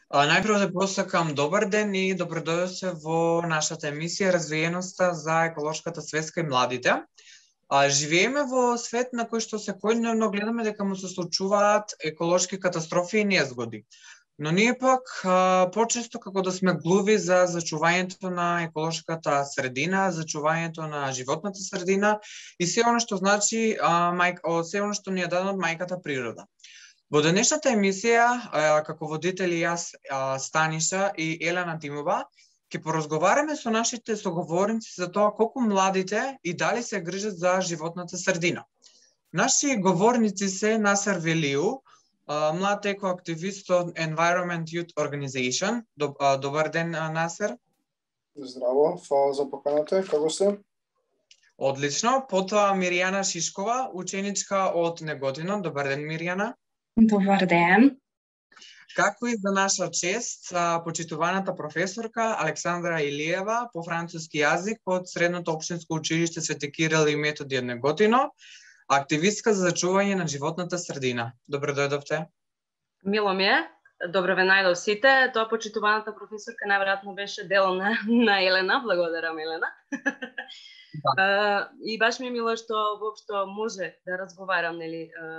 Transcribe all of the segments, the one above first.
Најпрво да посакам добар ден и добродојдовте во нашата емисија Развиеноста за еколошката свеска и младите. Живееме во свет на кој што секојдневно гледаме дека му се случуваат еколошки катастрофи и незгоди. Но ние пак почесто како да сме глуви за зачувањето на еколошката средина, зачувањето на животната средина и се она што значи се она што ни е дадено од мајката природа. Во денешната емисија, како водители јас, Станиша и Елена Тимова, ќе поразговараме со нашите соговорници за тоа колку младите и дали се грижат за животната средина. Наши говорници се Насер Велиу, млад екоактивист од Environment Youth Organization. Добар ден, Насер. Здраво, фала за поканата. Како сте? Одлично. Потоа Миријана Шишкова, ученичка од Неготино. Добар ден, Миријана. Добар ден. Како и за наша чест, почитуваната професорка Александра Илиева по француски јазик од Средното општинско училиште Свети Кирил и Методи од Неготино, активистка за зачување на животната средина. Добро дојдовте. Мило ми е. Добро ве најдов сите. Тоа почитуваната професорка најверојатно беше дел на Елена. Благодарам, Елена. И баш ми е мило што воопшто може да разговарам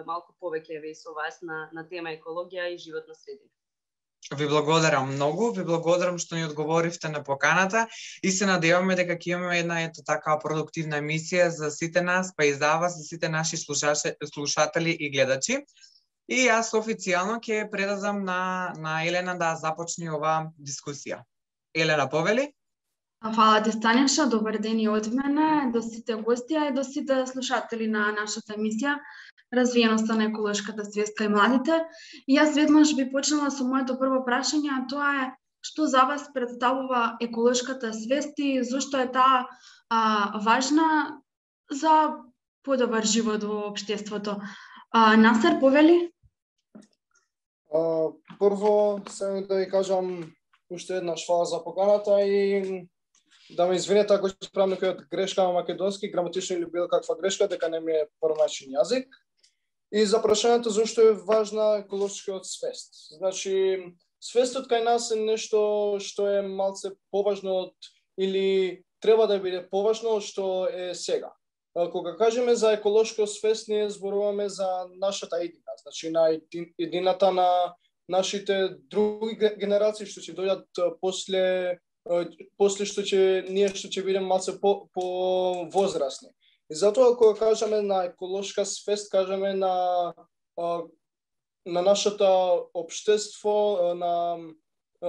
малку повеќе со вас на тема екологија и животна средина. Ви благодарам многу, ви благодарам што ни одговоривте на поканата и се надеваме дека ќе имаме една така продуктивна емисија за сите нас, па и за вас, за сите наши слушатели и гледачи. И јас официјално ќе предадам на Елена да започне оваа дискусија. Елена, повели? Фала ти, Станиша, добар ден и од мене, до сите гости и до сите слушатели на нашата емисија Развиеноста на еколошката свеска и младите. И јас веднаш би почнала со моето прво прашање, а тоа е што за вас представува еколошката свест и зошто е таа важна за подобар живот во општеството. Насер, повели? Прво, само да ви кажам уште еднаш фала за поканата и да ме извинете ако ќе правам некоја грешка на македонски, граматична или било каква грешка, дека не ми е првмачен јазик. И за прашањето зашто е важна еколошкиот свест. Значи, свестот кај нас е нешто што е малце поважно од или треба да биде поважно од што е сега. Кога кажеме за еколошка свест, ние зборуваме за нашата иднина, значи на иднината на нашите други генерации што ќе дојдат после што ќе бидеме малце по возрастни. И затоа кога кажеме на еколошка свест, кажеме на нашето општество,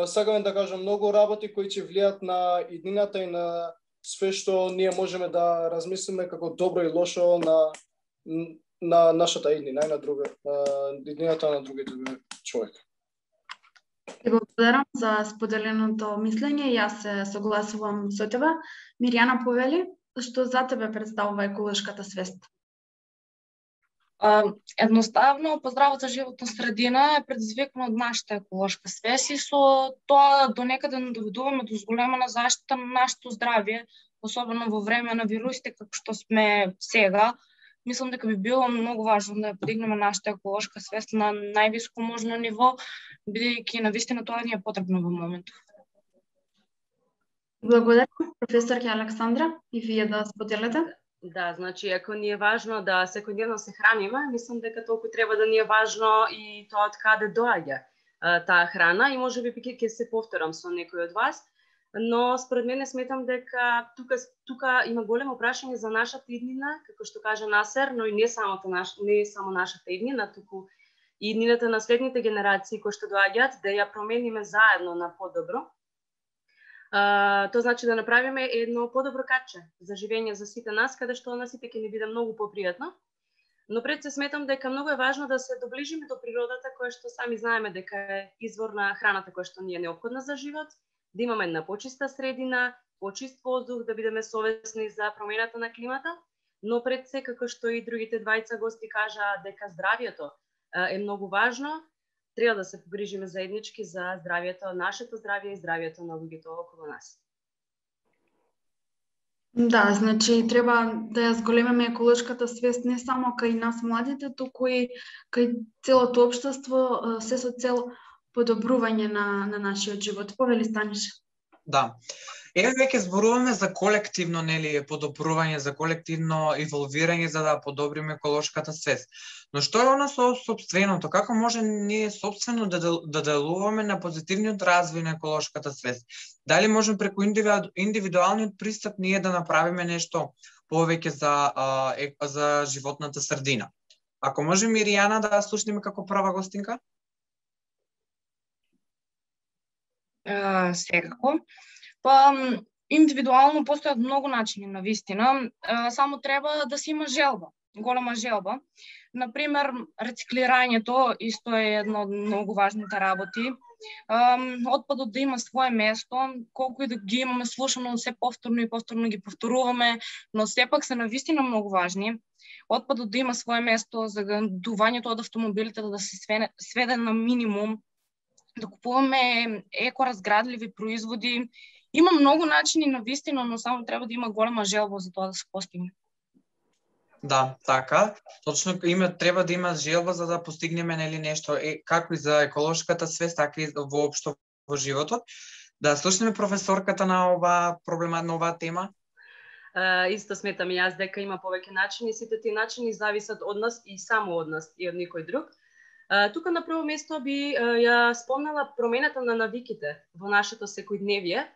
сакаме да кажем многу работи кои ќе влијат на иднината и на све што ние можеме да размислиме како добро и лошо на нашата иднина и на иднината на другите човек. Ти благодарам за споделеното мислење. Јас се согласувам со тебе. Миријана, повели, што за тебе представува еколошката свест? Едноставно, поздравата животна средина е предизвикана од нашата еколошка свест и со тоа до некаде доведуваме до зголемена заштита на нашето здравје, особено во време на вирусите како што сме сега. Мислам дека би било многу важно да ја подигнеме нашата еколошка свест на највисоко можно ниво, бидејќи навистина тоа ни е потребно во моментов. Благодарам, професорка Александра, и вие да споделите. Да, значи, ако ни е важно да секојдневно се храниме, мислам дека толку треба да ни е важно и тоа од каде доаѓа таа храна и можеби ќе се повторам со некој од вас, но според мене сметам дека тука има големо прашање за нашата иднина, како што кажа Насер, но и не само нашата иднина, туку и иднината на следните генерации кои што доаѓаат, да ја промениме заедно на подобро. Тоа значи да направиме едно подобро каче за живење за сите нас, каде што на сите ќе ни биде многу попријатно. Но пред се сметам дека многу е важно да се доближиме до природата, која што сами знаеме дека е извор на храната која што ни е неопходна за живот, да имаме една почиста средина, почист воздух, да бидеме совесни за промената на климата, но пред се, како што и другите двајца гости кажаа дека здравјето е многу важно, треба да се погрижиме заеднички за здравјето, нашето здравје и здравјето на луѓето околу нас. Да, значи треба да ја зголемиме еколошката свест не само кај нас младите, туку и кај целото општество, се со цел подобрување на нашиот живот. Повели Станиша. Да. Еве веќе зборуваме за колективно, нели, подобрување, за колективно еволвирање за да подобриме еколошката свест. Но што е она со сопственото? Како може ние сопствено да делуваме на позитивниот развој на еколошката свест? Дали можеме преку индивидуалниот пристап ние да направиме нешто повеќе за животната средина? Ако може Миријана да слушнеме како прва гостинка? Секако. Индивидуално постојат многу начини на вистина, само треба да се има желба, голема желба. Например, рециклирањето исто е едно од многу важните работи. Отпадот да има свое место, колку и да ги имаме слушано се повторно и повторно ги повторуваме, но сепак се навистина многу важни. Отпадот да има свое место, загадувањето од автомобилите да се сведе на минимум, да купуваме екоразградливи производи. Има многу начини на вистина, но само треба да има голема желба за тоа да се постигне. Да, така. Точно треба да има желба за да постигнеме нели нешто како и за еколошката свест, така и воопшто во животот. Да слушнеме професорката на оваа тема. Исто сметам и јас дека има повеќе начини, сите тие начини зависат од нас и само од нас и од никој друг. Тука на прво место би ја спомнала промената на навиките во нашето секојдневие.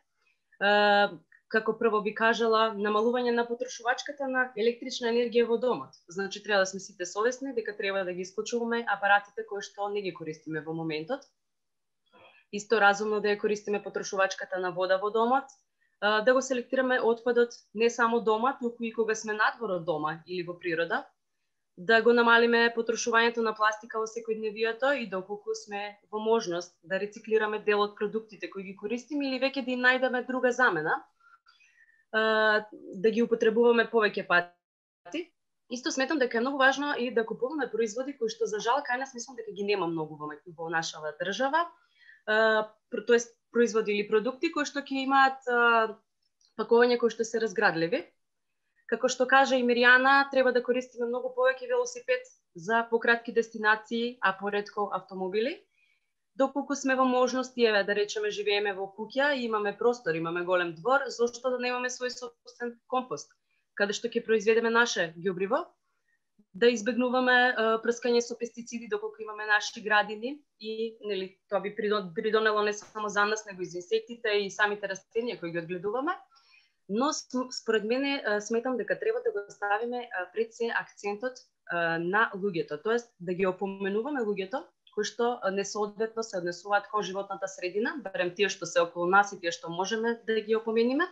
Како прво би кажала намалување на потрошувачката на електрична енергија во домот. Значи треба да сме сите совесни дека треба да ги исклучуваме апаратите кои што не ги користиме во моментот. Исто разумно да ја користиме потрошувачката на вода во домот, да го селектираме отпадот не само дома, туку и кога сме надвор од дома или во природа, да го намалиме потрошувањето на пластика во секојдневието и доколку сме во можност да рециклираме дел од продуктите кои ги користиме или веќе да им најдеме друга замена, да ги употребуваме повеќе пати. Исто сметам дека е многу важно и да купуваме производи кои што за жал кај нас мислам дека ги нема многу во нашава држава, тоест производи или продукти кои што ќе имаат пакување кои што се разградливи. Како што кажа и Миријана, треба да користиме многу повеќе велосипед за пократки дестинации, а поретко автомобили. Доколку сме во можност, еве да речеме живееме во куќа и имаме простор, имаме голем двор, зошто да немаме свој собствен компост, каде што ќе произведеме наше ѓубриво, да избегнуваме прскање со пестициди доколку имаме наши градини и нели тоа би придонело не само за нас, него и за инсектите и самите растенија кои ги одгледуваме. Но според мене сметам дека треба да го ставиме пред се акцентот на луѓето, тоест да ги опоменуваме луѓето кои што несоодветно се однесуваат кон животната средина, барем тие што се околу нас и тие што можеме да ги опомениме,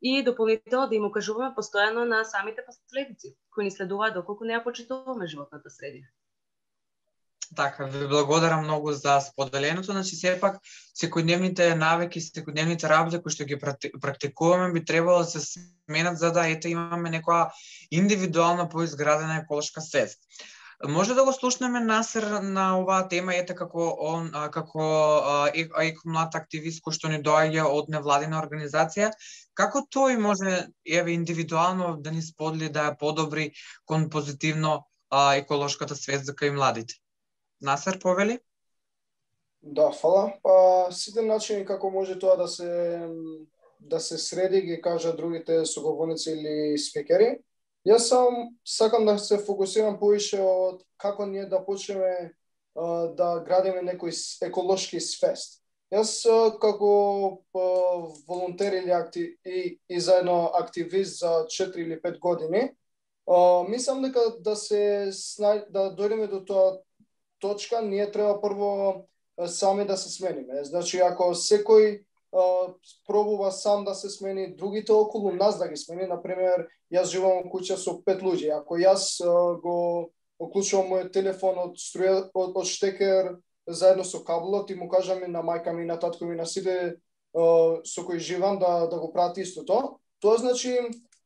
и дополнително да им укажуваме постојано на самите последици кои ни следуваат доколку не ја почитуваме животната средина. Така, ви благодарам многу за споделеното. Значи, сепак, секојдневните навики, секојдневните работи кои што ги практикуваме би требало да се сменат за да имаме некоја индивидуална поизградена еколошка свест. Може да го слушнеме Насер на оваа тема, како екомлад активист кој што ни доаѓа од невладина организација, како тој може индивидуално да ни сподели да ја подобри кон позитивно еколошката свест за кај младите? Насер, повели? Да, фала. Сите начини како може тоа да се среди, ги кажа другите соговорници или спикери. Јас сакам да се фокусирам повише од како ние да почнеме да градиме некој еколошки свест. Јас како волонтер и заедно активист за 4 или 5 години, мислам дека да дојдеме до тоа точка, ние треба прво сами да се смениме. Значи, ако секој пробува сам да се смени, другите околу нас да ги смени, например, јас живеам во куќа со 5 луѓе, ако јас го оклучувам мојот телефон од штекер заедно со кабелот и му кажам на мајка ми, на татко ми, на сите со кои живам да го прават истото, тоа значи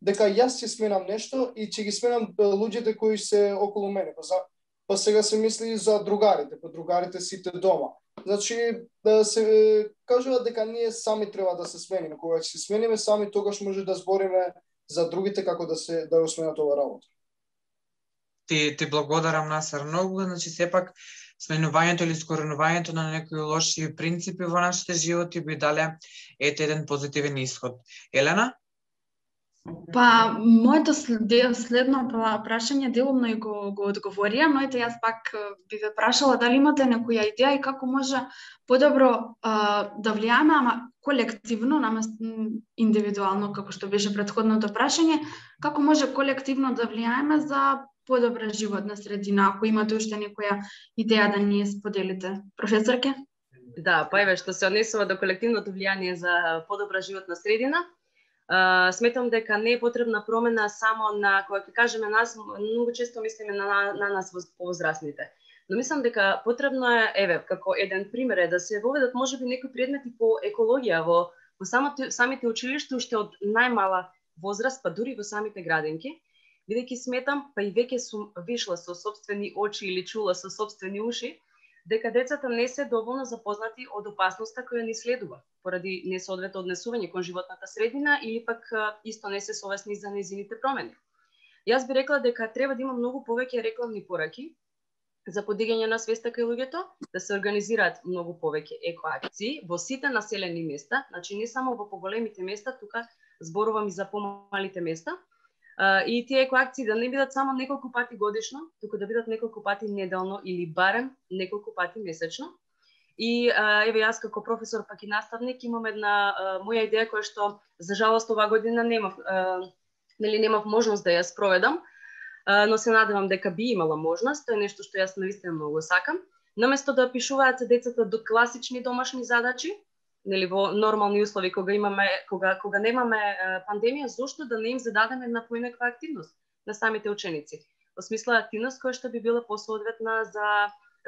дека јас ќе сменам нешто и ќе ги сменам луѓето кои се околу мене. Па сега се мисли за другарите, другарите сите дома. Значи, да се кажува дека ние сами треба да се смениме. Кога ќе се смениме сами, тогаш може да збориме за другите како да го сменат ова работа. Ти благодарам, Насер, многу. Значи, сепак, сменувањето или искоренувањето на некои лоши принципи во нашите животи би дале еден позитивен исход. Елена? Па, моето следно прашање делумно и го одговорија, но ете јас пак би ве прашала дали имате некоја идеја и како може подобро да влијаме, ама колективно, наместо индивидуално, како што беше претходното прашање, како може колективно да влијаеме за подобра животна средина, ако имате уште некоја идеја да ни споделите. Професорке? Да, па еве што се однесува до колективното влијание за подобра животна средина, сметам дека не е потребна промена само на, кога ќе кажеме нас, многу често мислиме на нас повозрастните. Но мислам дека потребно е, еве, како еден пример е да се воведат можеби некои предмети по екологија во самите училишта уште од најмала возраст, па дури во самите градинки, бидејќи сметам, па и веќе сум вишла со сопствени очи или чула со сопствени уши, дека децата не се доволно запознати од опасноста која ни следува, поради несоодветно однесување кон животната средина или пак исто не се совесни за нејзините промени. Јас би рекла дека треба да има многу повеќе рекламни пораки за подигање на свеста кај луѓето, да се организираат многу повеќе екоакции во сите населени места, значи не само во поголемите места, тука зборувам и за помалите места, и тие екоакции да не бидат само неколку пати годишно, туку да бидат неколку пати неделно или барем неколку пати месечно. И еве јас како професор пак и наставник имам една моја идеја која што за жалост оваа година немав можност да ја спроведам, но се надевам дека би имала можност. Тоа е нешто што јас навистина многу сакам. Наместо да пишуваат децата до класични домашни задачи, нели во нормални услови кога немаме пандемија, зошто да не им зададеме една поинаква активност на самите ученици? Во смисла активност која што би била посоодветна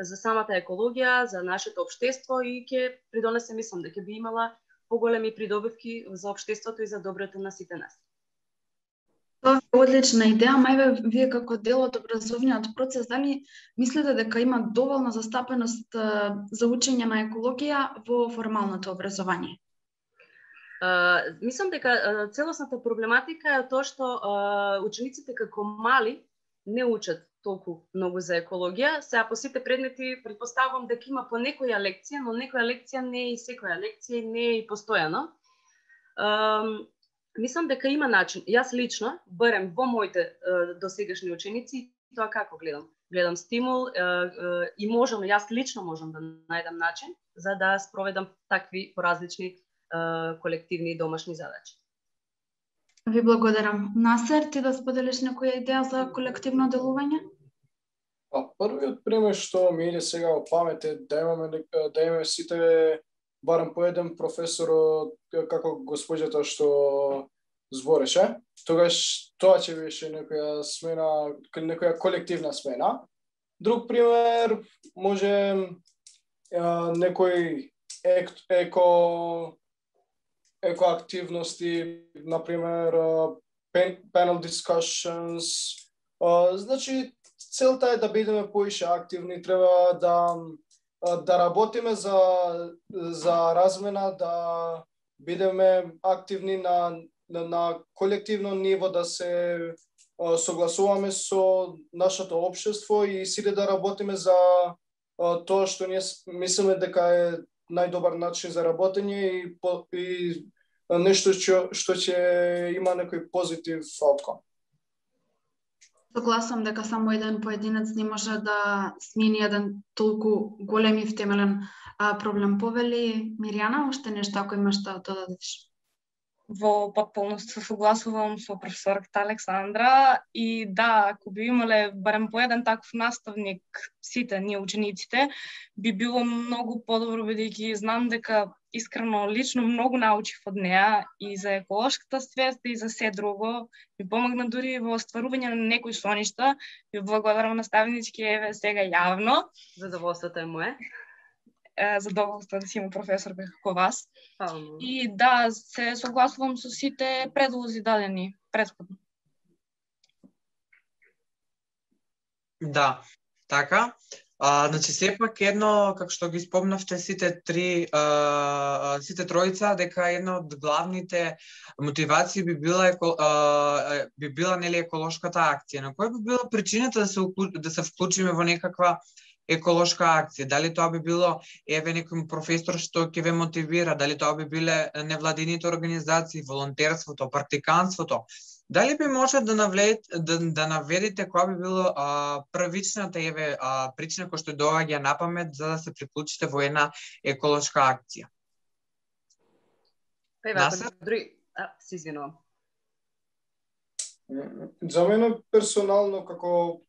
за самата екологија, за нашето општество и ќе придонесе, мислам, дека би имала поголеми придобивки за општеството и за доброто на сите нас. Тоа е одлична идеја, мајве вие како дел од образовниот процес, дали мислите дека има доволна застапеност за учење на екологија во формалното образование? Мислам дека целосната проблематика е тоа што учениците како мали не учат толку многу за екологија. Сега по сите предмети претпоставувам дека има по некоја лекција, но некоја лекција не е и секоја лекција, не е и постојано. Мислам дека има начин. Јас лично, барем во моите досегашни ученици, тоа како гледам? Гледам стимул и јас лично можам да најдам начин за да спроведам такви поразлични колективни домашни задачи. Ви благодарам. Насер, ти да споделиш некоја идеја за колективно делување? Првиот пример што ми иде сега во памет е да имаме сите барем по еден професор како госпоѓата што збореше. Тогаш тоа ќе беше некоја смена, некоја колективна смена. Друг пример може некој екоактивности, например panel discussions. Значи целта е да бидеме поише активни, треба да работиме за размена, да бидеме активни на колективно ниво, да се согласуваме со нашето општество и сите да работиме за тоа што ние мислиме дека е најдобар начин за работење и нешто што ќе има некој позитив outcome. Согласам дека само еден поединец не може да смени еден толку голем и втемелен проблем. Повели Мирјана, уште нешто ако имаш да додадеш? Во потполност се согласувам со професорката Александра и да, ако би имале барем по еден таков наставник сите ние учениците, би било многу подобро, бидејќи знам дека искрено лично многу научив од неа и за еколошката свест и за се друго. Ми помогна дури во остварување на некои соништа. Ви благодарам наставнички, еве сега јавно. Задоволството е мое. Задоволство да си има професорка како вас. И да, се согласувам со сите предлози дадени претходно. Да, така. Значи, сепак едно, како што ги спомнавте сите тројца, дека една од главните мотивации би била нели еколошката акција. На која би била причината да се вклучиме во некаква еколошка акција, дали тоа би било некој професор што ќе ве мотивира, дали тоа би биле невладините организации, волонтерството, практиканството. Дали би може да наведете која би било првичната причина која што доаѓа на памет за да се приклучите во една еколошка акција? Се извинувам. За мене персонално како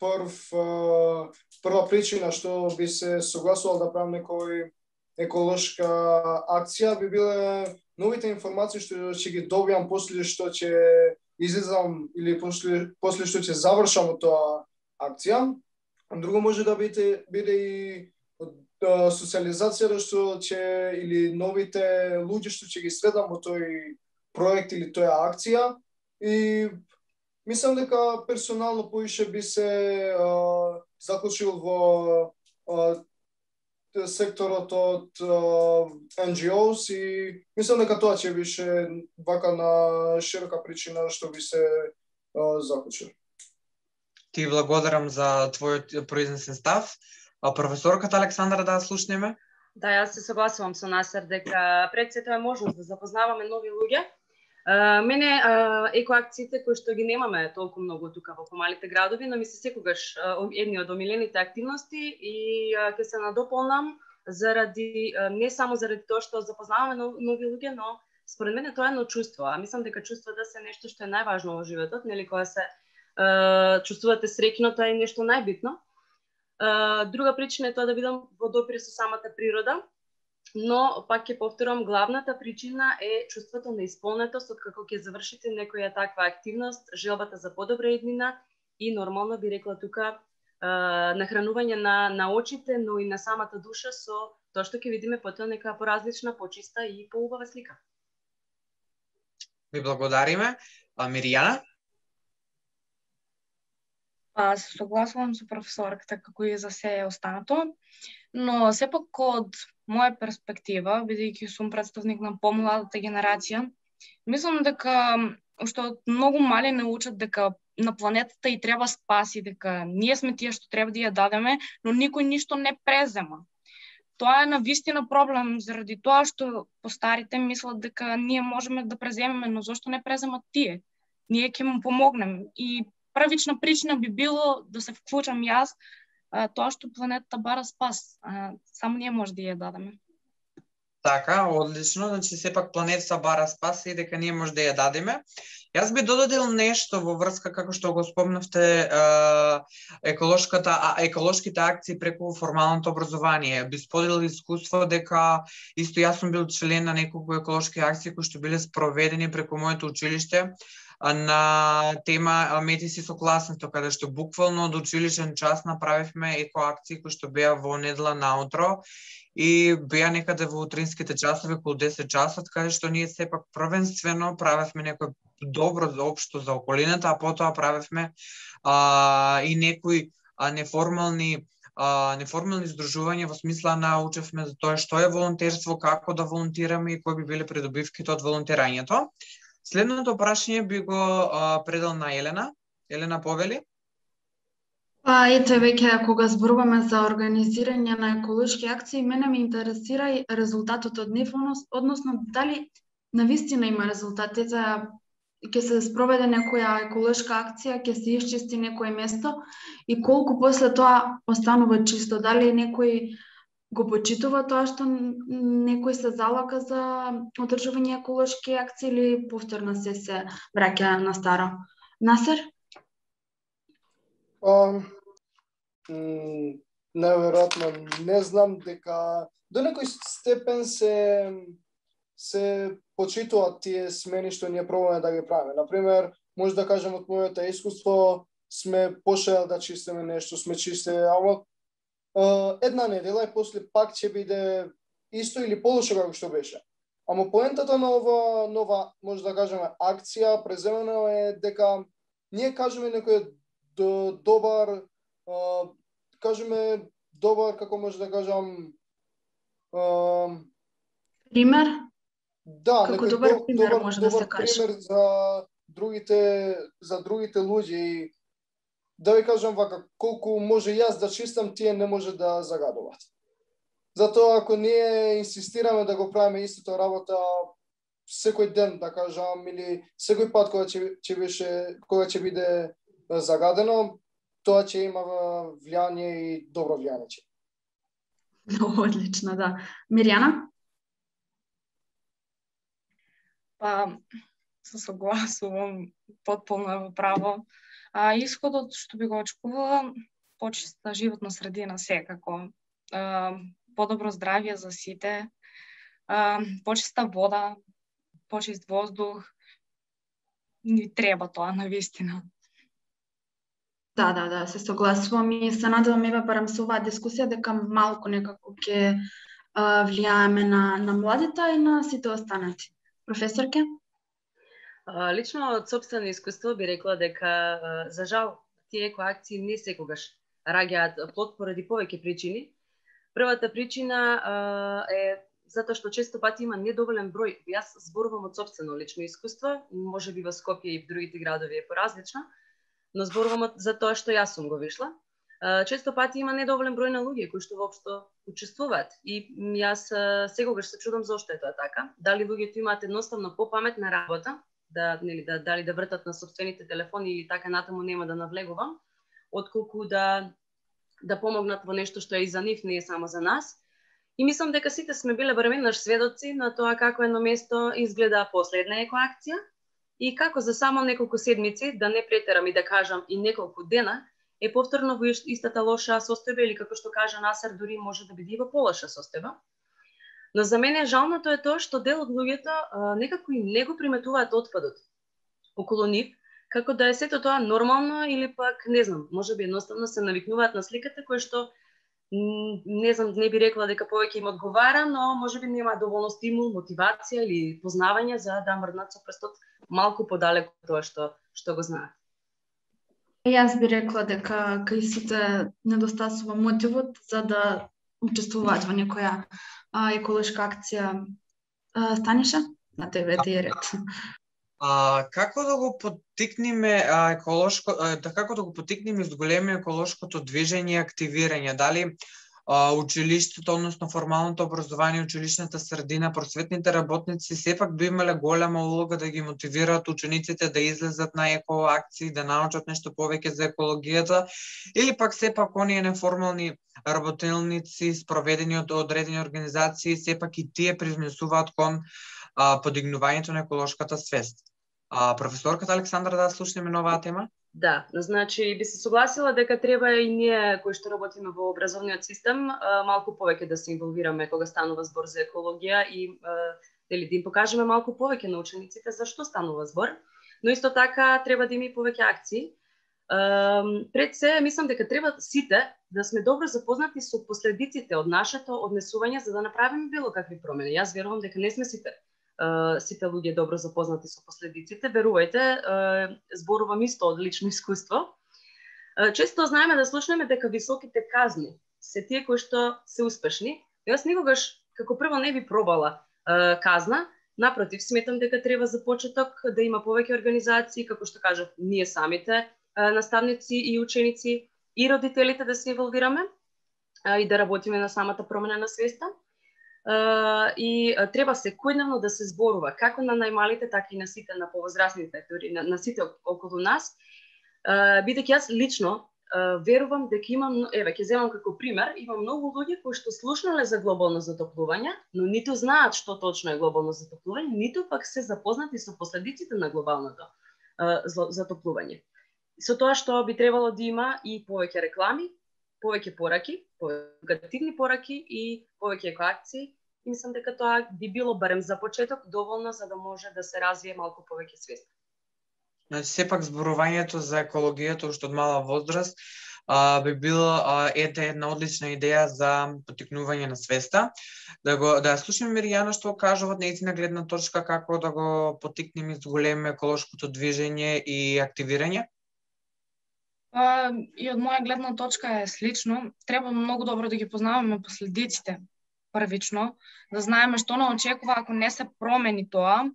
прва причина што би се согласувал да правам некој еколошка акција би биле новите информации што ќе ги добиам после што ќе излезам или после што ќе завршам од тоа акција. Друго може да биде и социализацијата што ќе или новите луѓе што ќе ги средам во тој проект или тоја акција. И мислам дека персонално поише би се заклучил во секторот од NGOs и мислам дека тоа ќе беше вака на широка причина што би се заклучил. Ти благодарам за твојот произнесен став. Професорката Александра да слушнеме? Да, јас се согласувам со Насер дека пред сето е можност да запознаваме нови луѓе. Мене екоакциите кои што ги немаме толку многу тука во помалите градови, но ми се секогаш едни од омилените активности и ќе се надополнам заради не само заради тоа што запознаваме нови луѓе, но според мене тоа е едно чувство. А мислам дека чувствата се нешто што е најважно во животот, нели кога се чувствувате среќно, тоа е нешто најбитно. Друга причина е тоа да бидам во допир со самата природа. Но, пак ќе повторам, главната причина е чувството на исполнетост откако ќе завршите некоја таква активност, желбата за подобра иднина и нормално би рекла тука нахранување на очите, но и на самата душа со тоа што ќе видиме потоа нека поразлична, почиста и поубава слика. Ви благодариме. Миријана? Се согласувам со професорката како и за се останато, но сепак од моја перспектива, бидејќи сум представник на помладата генерација, мислам дека уште од многу мали не учат дека на планетата и треба спаси, дека ние сме тие што треба да ја дадеме, но никој ништо не презема. Тоа е навистина проблем заради тоа што постарите мислат дека ние можеме да преземеме, но зошто не преземат тие? Ние ќе му помогнем и првична причина би било да се вклучам јас, тоа што планетата бара спас. Само ние може да ја дадеме. Така, одлично, значи сепак планетата бара спас и дека ние може да ја дадеме. Јас би додадил нешто во врска како што го спомнавте еколошките акции преку формалното образование. Би споделил искуство дека исто јас сум бил член на неколку еколошки акции кои што биле спроведени преку моето училиште на тема метиси со класното, каде што буквално од училишен час направивме екоакции кои што беа во недела наутро и беа некаде во утринските часови околу 10 часот, каде што ние сепак првенствено правевме некој добро за општо за околината, а потоа правевме и некои неформални здружувања во смисла научевме за тоа што е волонтерство, како да волонтираме и кои би биле придобивките од волонтирањето. Следното прашање би го предал на Елена. Елена, повели? Ете, веќе кога зборуваме за организирање на еколошки акции, мене ме интересира и резултатот од нив, односно дали навистина има резултати, ќе се спроведе некоја еколошка акција, ќе се исчисти некое место и колку после тоа останува чисто, дали некој го почитува тоа што некој се залага за одржување еколошки акции или повторно се враќа на старо? Насер? Неверојатно, не знам дека до некој степен се почитуваат тие смени што ние пробуваме да ги правиме. Например, може да кажем од моето искуство, сме пошли да чистиме нешто, сме чистили, ама една недела и после пак ќе биде исто или полошо како што беше. Ама поентата на ова нова, може да кажеме, акција преземено е дека ние кажеме некој добар, како може да кажам, пример? Да, како добар пример може да се каже. Пример за другите луѓе. да ви кажам вака, колку може јас да чистам, тие не може да загадуваат. Затоа ако ние инсистираме да го правиме истото работа секој ден, да кажам, или секој пат кога ќе биде загадено, тоа ќе има влијание и добро влијание. Много одлично, да. Мирјана? Па, се согласувам потполно во право. Исходот што би го очекувала, почиста животна средина секако. Подобро здравје за сите, почиста вода, почист воздух. Ни треба тоа навистина. Да, се согласувам и се надевам ева барам со оваа дискусија дека малку некако ќе влијаеме на младите и на сите останати. Професорке? Лично од сопствено искуство би рекла дека за жал тие екоакции не секогаш раѓаат плод поради повеќе причини. Првата причина е затоа што често пати има недоволен број. Јас зборувам од сопствено лично искуство, можеби во Скопје и в другите градови е поразлично, но зборувам за тоа што јас сум го вишла. Често пати има недоволен број на луѓе кои што воопшто учествуваат и јас секогаш се чудам зошто е тоа така. Дали луѓето имаат едноставно попаметна работа, дали да вртат на сопствените телефони или така натаму, нема да навлегувам, отколку да помогнат во нешто што е и за нив, не е само за нас. И мислам дека сите сме биле барем еднаш сведоци на тоа како едно место изгледа последна екоакција и како за само неколку седмици, да не претерам и да кажам и неколку дена, е повторно во истата лоша состојба или како што кажа Насер, дури може да биде и во полоша состојба. Но за мене жалното е тоа што дел од луѓето некако и не го приметуваат отпадот околу нив, како да е сето тоа нормално или пак, не знам, можеби едноставно се навикнуваат на сликата која што, не знам, не би рекла дека повеќе им одговара, но можеби нема доволно стимул, мотивација или познавање за да мрднат со прстот малку подалеку од тоа што го знаат. Јас би рекла дека кај сите недостасува мотивот за да учествуваат во некоја еколошка акција. Станиша, на тебе ти е ред. Како да го поттикнеме како да го поттикнеме зголеми еколошкото движење и активирање? Дали училиштето, односно формалното образование, училишната средина, просветните работници сепак би имале голема улога да ги мотивираат учениците да излезат на екоакции, да научат нешто повеќе за екологијата, или пак сепак оние неформални работелници спроведени од одредени организации, сепак и тие привнесуваат кон подигнувањето на еколошката свест? Професорката Александра, да слушнеме на оваа тема? Да, значи би се согласила дека треба и ние кои што работиме во образовниот систем малку повеќе да се инволвираме кога станува збор за екологија и да им покажеме малку повеќе на учениците за што станува збор, но исто така треба да има и повеќе акции. Пред се, мислам дека треба сите да сме добро запознати со последиците од нашето однесување за да направиме било какви промени. Јас верувам дека не сме сите луѓе добро запознати со последиците. Верувајте, зборувам исто од лично искуство. Често знаеме да слушнеме дека високите казни се тие кои што се успешни. Јас никогаш како прво не би пробала казна. Напротив, сметам дека треба за почеток да има повеќе организации, како што кажав, ние самите наставници и ученици и родителите да се инволвираме и да работиме на самата промена на свеста. И треба секојдневно да се зборува како на најмалите, така и на сите, на повозрастните, на сите околу нас. Бидејќи јас лично верувам дека имам, ќе земам како пример, има многу луѓе кои што слушнале за глобално затоплување, но ниту знаат што точно е глобално затоплување, ниту пак се запознати со последиците на глобалното затоплување. Со тоа што би требало да има и повеќе реклами, повеќе пораки, повеќе пораки и повеќе екоакции. И мислам дека тоа би било барем за почеток доволно за да може да се развие малку повеќе свест. Значи, сепак зборувањето за екологијата уште од мала возраст би била една одлична идеја за поттикнување на свеста. Да слушаме Мирјана што кажува од нејзина гледна точка како да го поттикнеме и зголемиме еколошкото движење и активирање. И од моја гледна точка е слично. Треба многу добро да ги познаваме последиците првично, да знаеме што не очекува ако не се промени тоа.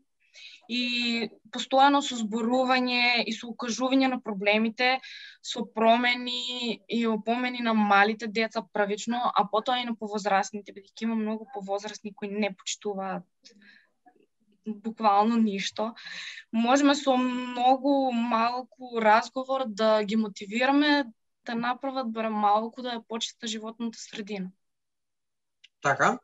и постојано со зборување и со укажување на проблемите, со промени и опомени на малите деца првично, а потоа и на повозрастните, бидејќи има многу повозрастни кои не почитуваат буквално ништо. Можеме со многу малку разговор да ги мотивираме да направат барем малку да ја почита животната средина. Така.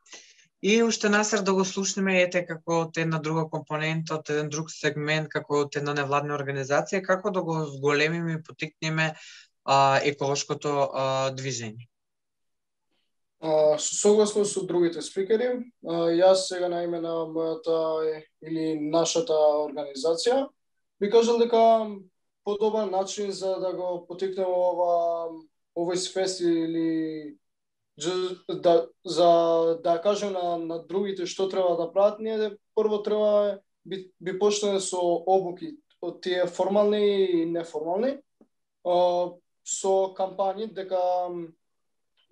И уште Насер да го слушнеме ете како од една друга компонента, од еден друг сегмент, како од една невладна организација, како да го зголемиме и потикнеме еколошкото движење. Согласно со другите спикери, јас сега на име на мојата или нашата организација би кажал дека подобар начин за да го потикнеме овој свест или за да кажем на другите што треба да прават, ние прво треба би почнеме со обуки, од тие формални и неформални, со кампањи дека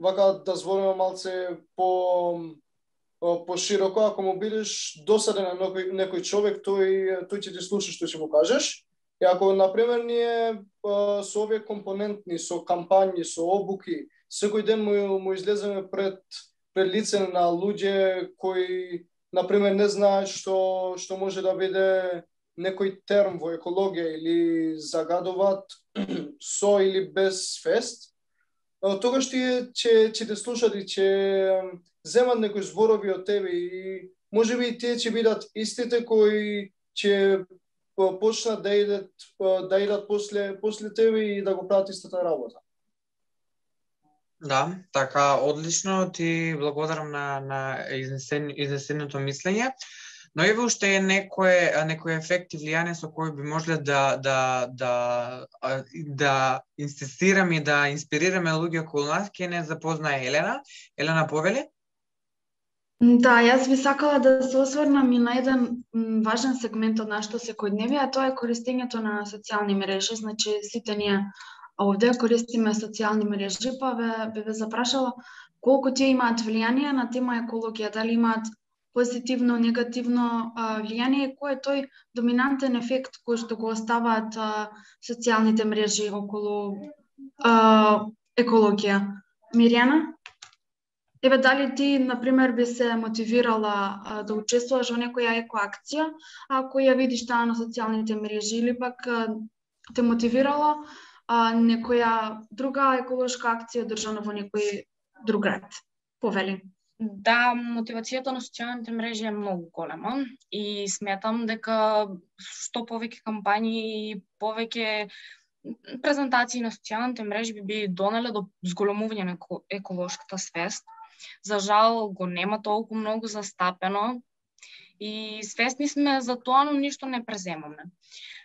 вака да збориме малце по широко, ако му бидеш досаден на некој човек, тој ќе ти слуша што ќе му кажеш. И ако например ние со овие компонентни, со кампањи, со обуки, секој ден му излеземе пред лице на луѓе кои например не знаат што може да биде некој терм во екологија или загадуваат со или без фест, тогаш ќе те слушат и ќе земат некои зборови од тебе и можеби и тие ќе бидат истите кои ќе почнат да идат после тебе и да го прават истата работа. Да, така, одлично, ти благодарам на изнесеното мислење. Но еве уште е некој ефект и влијание со кој би можеле да инсистираме и да инспирираме луѓе околу нас, ќе не запознае Елена. Елена, повели? Да, јас би сакала да се осврнам и на еден важен сегмент од нашето секојдневие, а тоа е користењето на социјални мрежи. Значи, сите ние овде користиме социјални мрежи, па би ве запрашала колку тие имаат влијание на тема екологија, дали имаат позитивно, негативно влијание и кој е тој доминантен ефект кој што го оставаат социјалните мрежи околу екологија. Мирјана? Еве, дали ти, например, би се мотивирала да учествуваш во некоја екоакција, ако ја видиш таа на социјалните мрежи, или пак те мотивирала некоја друга еколошка акција одржана во некој друг град? Повели. Да, мотивацијата на социјалните мрежи е многу голема и сметам дека што повеќе кампањи и повеќе презентации на социјалните мрежи би донеле до зголемување на еколошката свест. За жал го нема толку многу застапено и свесни сме за тоа, но ништо не преземаме.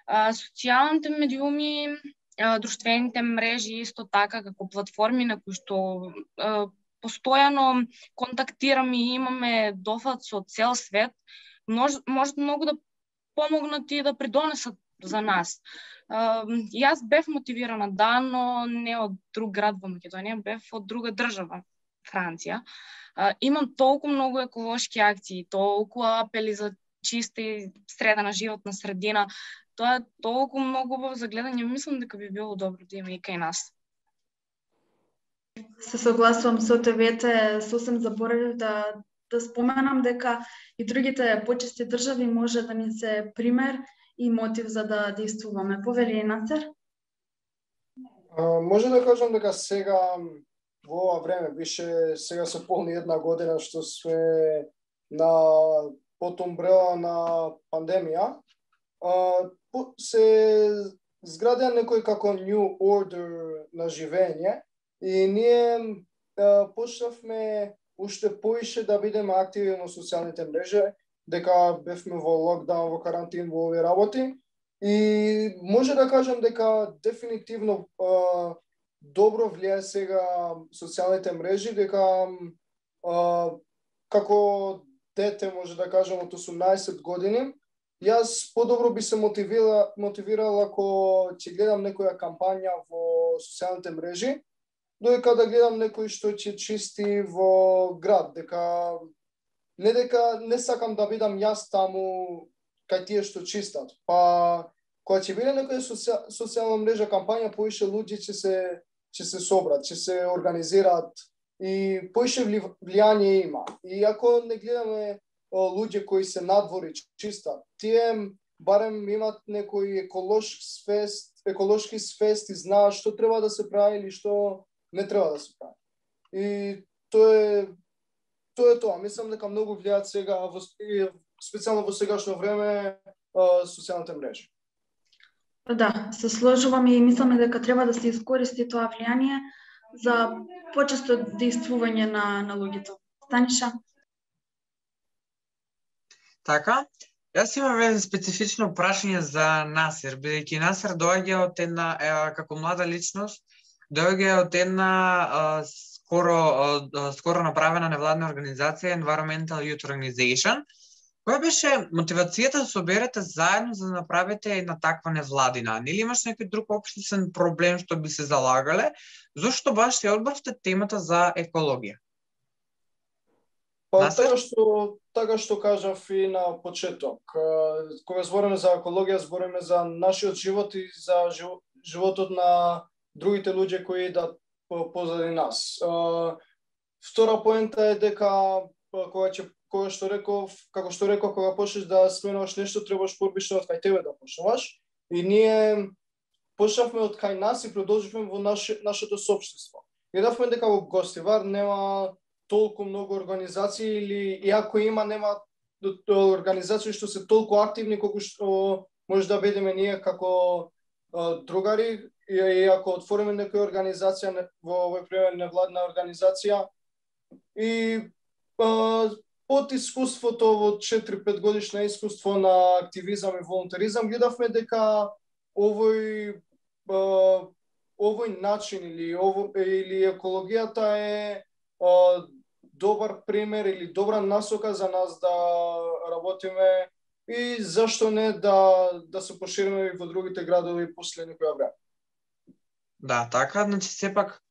Социјалните медиуми, друштвените мрежи исто така како платформи на кои што постојано контактираме и имаме дофат со цел свет, можат многу да помогнат и да придонесат за нас. Јас бев мотивирана, да, но не од друг град во Македонија, бев од друга држава, Франција. Имам толку многу еколошки акции, толку апели за чиста и средена животна средина. Тоа е толку многу убаво за гледање, мислам дека би било добро да има и кај нас. Се согласувам со тебе, сосем заборавив да споменам дека и другите почести држави може да ни се пример и мотив за да действуваме. Повели, Насер? Може да кажам дека сега во ова време, више сега се полни една година што сме на потом бреа на пандемија, се зградија некој како new order на живење и ние почнавме уште поише да бидеме активни на социјалните мрежи, дека бевме во локдаун, во карантин, во овие работи и може да кажам дека дефинитивно добро влијае сега социјалните мрежи, дека како дете, може да кажам, од 18 години, јас подобро би се мотивирала ако ќе гледам некоја кампања во социјалните мрежи, додека да гледам некој што ќе чисти во град, дека не сакам да бидам јас таму кај тие што чистат. Па кога ќе биде некоја социјална мрежа кампања, поише луѓе ќе се собрат, ќе се организираат и поише влијание има. И ако не гледаме луѓе кои се надвори чистат, тие барем имат некој еколошки свест и знаат што треба да се прави или што не треба да се прави. И тоа е тоа. Мислам дека многу влијаат сега, специјално во сегашно време, социјалните мрежи. Да, се сложувам и мислам дека треба да се искористи тоа влијание за почесто дејствување на луѓето. Станиша? Така, јас имам едно специфично прашање за Насер, бидејќи Насер доаѓа од една, како млада личност, доаѓа од една скоро направена невладна организација, Environmental Youth Organization. Која беше мотивацијата да соберете заедно за да направите една таква невладина? Нели имаш некој друг општествен проблем што би се залагале? Зошто баш се одбравте темата за екологија? Па така што кажав и на почеток. Кога збориме за екологија, збориме за нашиот живот и за животот на другите луѓе кои идат позади нас. Втора поента е дека како што реков, кога почнеш да сменуваш нешто, требаш порбично од кај тебе да почнуваш. И ние почнавме од кај нас и продолживме во нашето соопштество. Гледавме дека во Гостивар нема толку многу организации или иако има, нема организации што се толку активни колку што може да бидеме ние како другари, и ако отвориме некоја организација во овој пример невладна организација и од искуството во 4-5 годишно искуство на активизам и волонтеризам, гледавме дека овој начин или екологијата е добар пример или добра насока за нас да работиме и зашто не да се пошириме во другите градови после некоја време. Да, така, значи сепак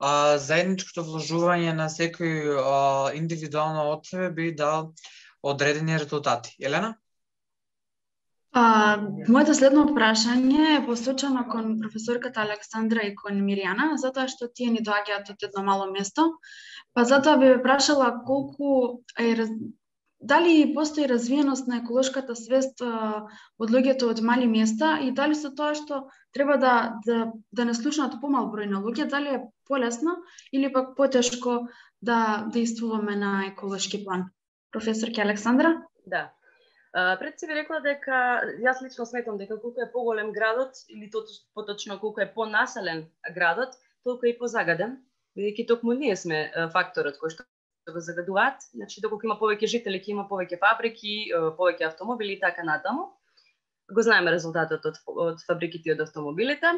заедничкото вложување на секој индивидуално од себе би дал одредени резултати. Елена? Моето следно прашање е посочено кон професорката Александра и кон Миријана, затоа што тие ни доаѓаат од едно мало место. Па затоа би ве прашала дали постои развиеност на еколошката свест од луѓето од мали места и дали со тоа што треба да не слушнат помал број на луѓе, дали е полесно или пак потешко да действуваме на еколошки план? Професорке Александра? Да. Пред си ви рекла дека јас лично сметам дека колку е поголем градот или поточно колку е понаселен градот, толку е и позагаден, бидејќи токму ние сме факторот кој што го загадуваат. Значи доколку има повеќе жители, ќе има повеќе фабрики, повеќе автомобили и така натаму. Го знаеме резултатот од фабриките и од автомобилите.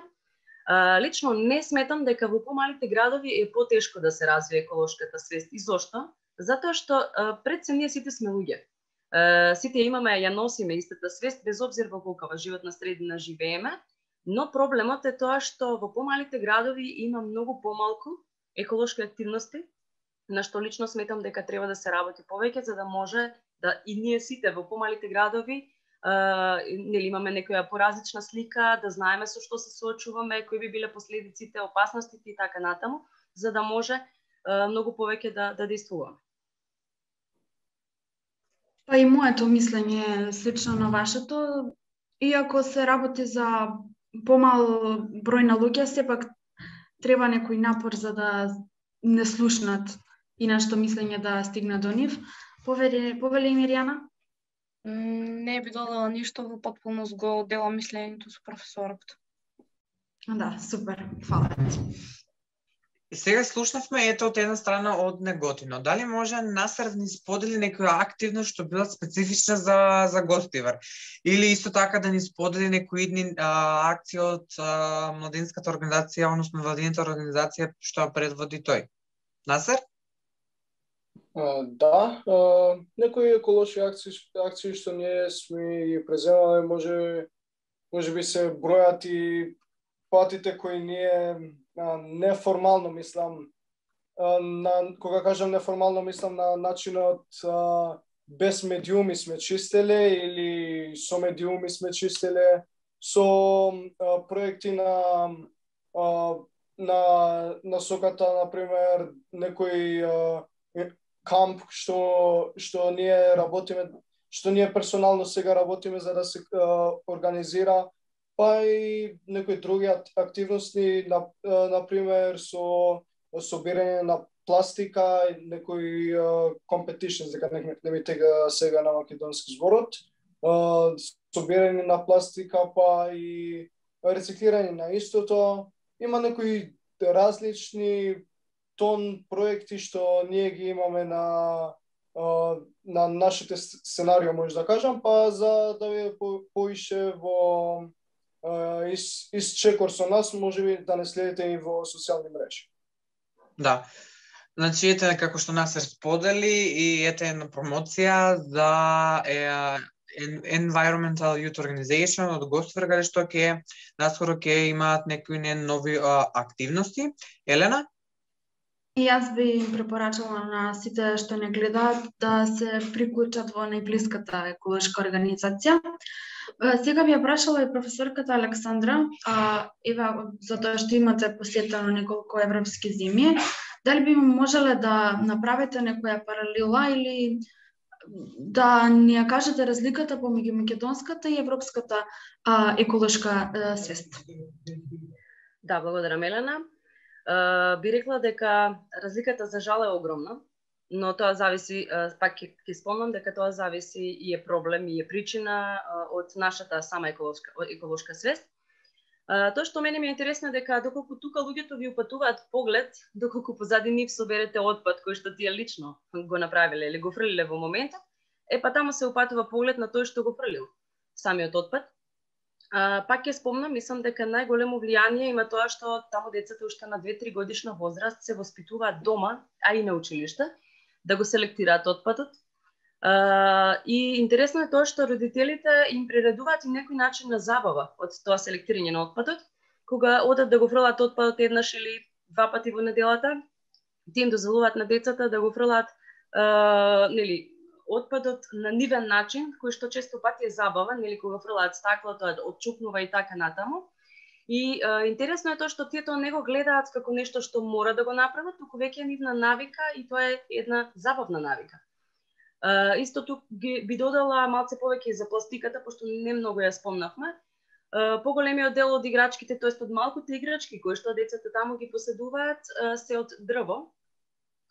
Лично не сметам дека во помалите градови е потешко да се развие еколошката свест. И зошто? Затоа што пред се ние сите сме луѓе. Сите имаме, ја носиме истата свест, без обзир во колкава животна средина живееме, но проблемот е тоа што во помалите градови има многу помалку еколошки активности, на што лично сметам дека треба да се работи повеќе, за да може да и ние сите во помалите градови нели имаме некоја поразлична слика, да знаеме со што се соочуваме, кои би биле последиците, опасностите и така натаму, за да може многу повеќе да действуваме. Па и моето мислење е слично на вашето. Иако се работи за помал број на луѓе, сепак треба некој напор за да не слушнат и нашето мислење да стигне до нив. Повели Миријана? Не би додала ништо, во потполност го делам мислењето со професорот. Да, супер, фала. И сега слушнавме ето од една страна од неготино. Дали може Насер да ни сподели некоја активност што била специфична за Гостивар? Или исто така да ни сподели некои идни акции од младинската организација, односно владината организација што ја предводи тој? Насер? Да, некои еколошки акции што ние сме ги преземале, може би се бројат и патите кои ние неформално мислам, кога кажам неформално мислам на начинот без медиуми сме чистеле или со медиуми сме чистеле, со проекти на насоката, например, некој камп што ние работиме, што ние персонално сега работиме за да се организира, па и некои други активности, например со собирање на пластика и некои competitions, дека не ми тега сега на македонски зборот, собирање на пластика, па и рециклирање на истото. Има некои различни тон проекти што ние ги имаме на нашите сценарио, може да кажам, па за да ви поише во исчекор со нас, може би да не следите и во социјални мрежи. Да. Значи, ете како што нас се сподели и ете една промоција за Environmental Youth Organization од Гостфер, каде што наскоро ќе имаат некои нови активности. Елена? И јас би им препорачала на сите што не гледаат да се приклучат во најблиската еколошка организација. Сега би ја прашала и професорката Александра, ева затоа што имате посетено неколку европски земји, дали би можеле да направите некоја паралела или да ни ја кажете разликата помеѓу македонската и европската еколошка свест? Да, благодарам, Елена. Би рекла дека разликата за жал е огромна, но тоа зависи, пак ќе спомнам дека тоа зависи и е проблем и е причина од нашата сама еколошка свест. Тоа што мене ми е интересно дека доколку тука луѓето ви упатуваат поглед, доколку позади нив соберете отпад кој што тие лично го направиле или го фрлиле во моментот, па таму се упатува поглед на тој што го фрлил самиот отпад. Пак ќе спомнам, мислам дека најголемо влијание има тоа што таму децата уште на 2-3 годишна возраст се воспитуваат дома, а и на училиште, да го селектираат отпадот. И интересно е тоа што родителите им приредуваат и некој начин на забава од тоа селектирање на отпадот, кога одат да го фрлат отпадот еднаш или 2 пати во неделата, тие им дозволуваат на децата да го фрлаат отпадот на нивен начин, кој што често пати е забава, кога фрлаат стакло, тоа отчупнува и така натаму. И интересно е тоа што тие тоа не го гледаат како нешто што мора да го направат, туку веќе е нивна навика и тоа е една забавна навика. Исто тук би додала малце повеќе за пластиката, пошто не многу ја спомнавме. Поголемиот дел од играчките, тоест од малките играчки кои што децата таму ги поседуваат, се од дрво.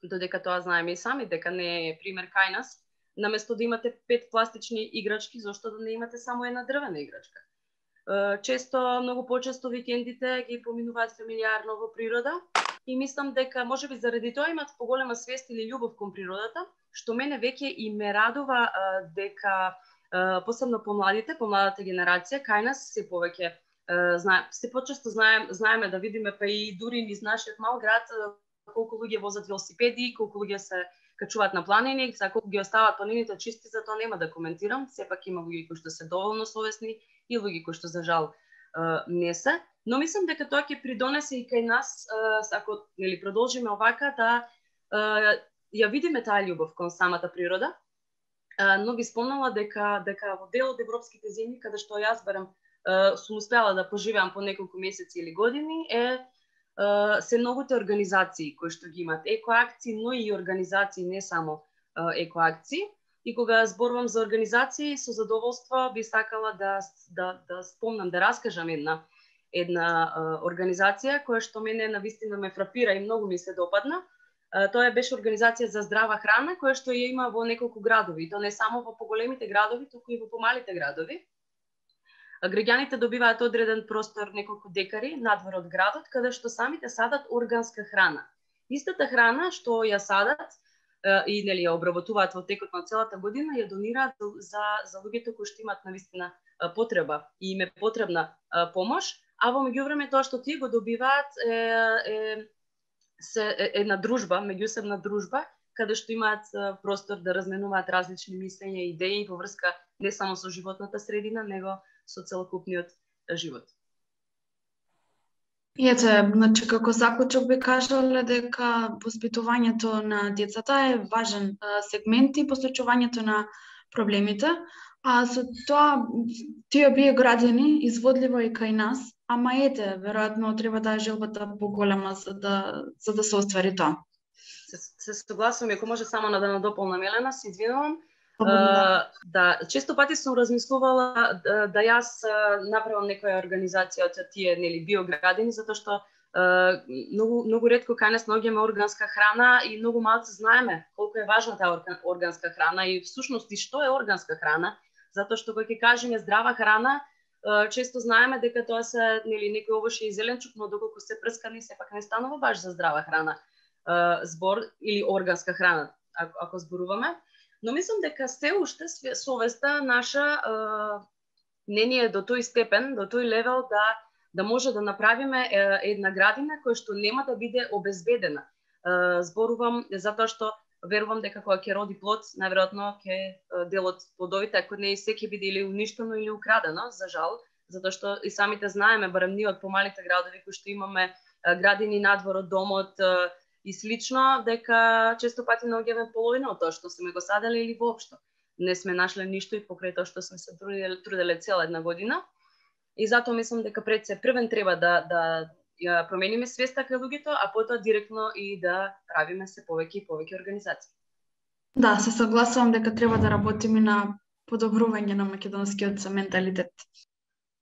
Додека тоа знаеме и сами дека не е пример кај нас. Наместо да имате 5 пластични играчки, зошто да не имате само една дрвена играчка? Многу почесто викендите ги поминуваат фамилиарно во природа и мислам дека можеби заради тоа имат поголема свест или љубов кон природата, што мене веќе и ме радува дека посебно помладата генерација кај нас се повеќе се почесто знаеме да видиме, па и дури низ нашиот мал град колку луѓе возат велосипеди, колку луѓе се качуваат на планини, колку ги оставаат планините чисти, за тоа нема да коментирам. Сепак има луѓе кои што се доволно совесни и луѓе кои што за жал не се. Но мислам дека тоа ќе придонесе и кај нас, ако продолжиме овака, да ја видиме таа љубов кон самата природа. Но би спомнала дека во дел од европските земји, каде што јас барам сум успела да поживеам по неколку месеци или години, се многуте организации кои што ги имат екоакции, но и организации, не само екоакции. И кога зборувам за организации, со задоволство би сакала да спомнам, да раскажам една организација која што мене навистина ме фрапира и многу ми се допадна. Тоа беше организација за здрава храна, која што ја има во неколку градови, то не само во поголемите градови, туку и во помалите градови. Граѓаните добиваат одреден простор, неколку декари надвор од градот, каде што самите садат органска храна. Истата храна што ја садат и ја обработуваат во текот на целата година, ја донираат за луѓето кои што имаат навистина потреба и им е потребна помош, а во меѓувреме тоа што тие го добиваат е една дружба, меѓусебна дружба, каде што имаат простор да разменуваат различни мислења и идеи во врска не само со животната средина, него со целокупниот живот. И ето, значи, како заклучок би кажале дека воспитувањето на децата е важен сегмент и посочувањето на проблемите, а со тоа тие бие градени изводливо и кај нас, ама ете, веројатно треба да е желбата поголема за да се оствари тоа. Се согласувам, ако може само да надополнам, Елена, се извинувам. Да, често пати сум размислувала да јас направам некоја организација од тие, нели, биоградини, затоа што многу ретко кај нас наоѓаме органска храна и многу малку знаеме колку е важна таа органска храна и всушност и што е органска храна, затоа што кога ќе кажеме здрава храна, често знаеме дека тоа се, нели, некој овошје и зеленчук, но доколку се прскани сепак не станува баш за здрава храна. Збор или органска храна, ако зборуваме. Но мислам дека се уште совеста наша не ни е до тој степен, до тој левел да може да направиме една градина која што нема да биде обезбедена. Зборувам затоа што верувам дека кога ќе роди плод, најверојатно ќе дел од плодовите, ако не и се ќе биде или уништено или украдено, за жал, затоа што и самите знаеме, барем ние од помалите градови кои што имаме градини надвор од домот и слично, дека често пати наоѓаме половина од тоа што сме го садели или воопшто не сме нашле ништо и покрај тоа што сме се труделе цела една година. И затоа мислам дека пред се првен треба да ја промениме свеста кај луѓето, а потоа директно и да правиме се повеќе и повеќе организации. Да, се согласувам дека треба да работиме на подобрување на македонскиот менталитет.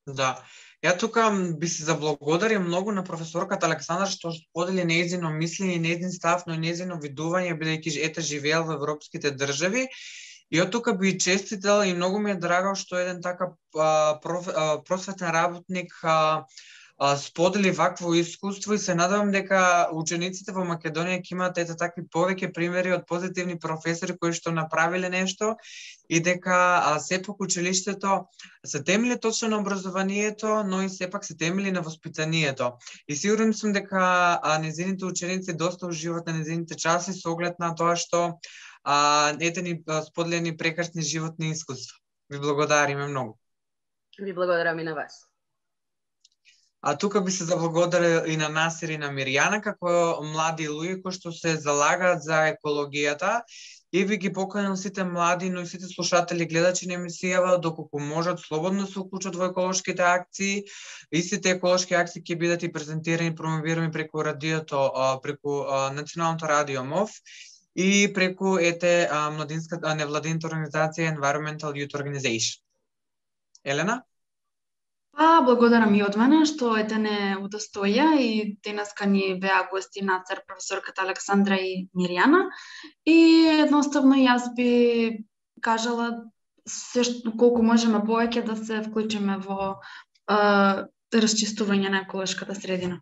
Да. Ја тука би се заблагодарил многу на професорката Александра што сподели нејзино мислење, нејзин став, но и нејзино видување, бидејќи ете живеел во европските држави. И од тука би честител и многу ми е драго што еден така просветен работник сподели вакво искуство и се надевам дека учениците во Македонија ќе имаат ете такви повеќе примери од позитивни професори кои што направиле нешто и дека сепак училиштето се темели точно на образованието, но и сепак се темели на воспитанието. И сигурен сум дека незините ученици доста уживаат на незините часи со оглед на тоа што ете ни споделени прекрасни животни искуства. Ви благодариме многу. Ви благодарам и на вас. А тука би се заблагодарил и на Насир и на Мирјана како млади луѓе кои што се залагаат за екологијата и ви ги поканил сите млади, но и сите слушатели, гледачи на емисијава, доколку можат слободно се уклучат во еколошките акции. Истите еколошки акции ќе бидат и презентирани, промовирани преку радиото, преку Националното радио МОВ и преку младинската невладината организација Environmental Youth Organization. Елена? Благодарам и од мене што не удостоја и денеска ни беа гости на ЦР професорката Александра и Мирјана. И едноставно јас би кажала се колку можеме повеќе да се вклучиме во расчистување на еколошката средина.